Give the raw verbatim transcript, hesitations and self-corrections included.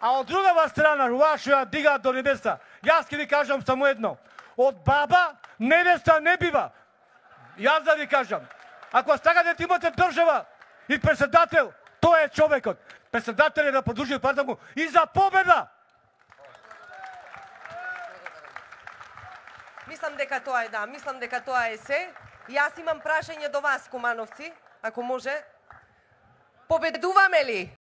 А од другава страна, ова што ја дигаат до небеса, јас ќе ви кажам само едно. Од баба невеста не бива. Јас да ви кажам. Ако сакате да имате држава и председател, тој е човекот. Председател е да продолжи партијата му и за победа. Мислам дека тоа е да, мислам дека тоа е се. Јас имам прашање до вас, кумановци, ако може. Победуваме ли?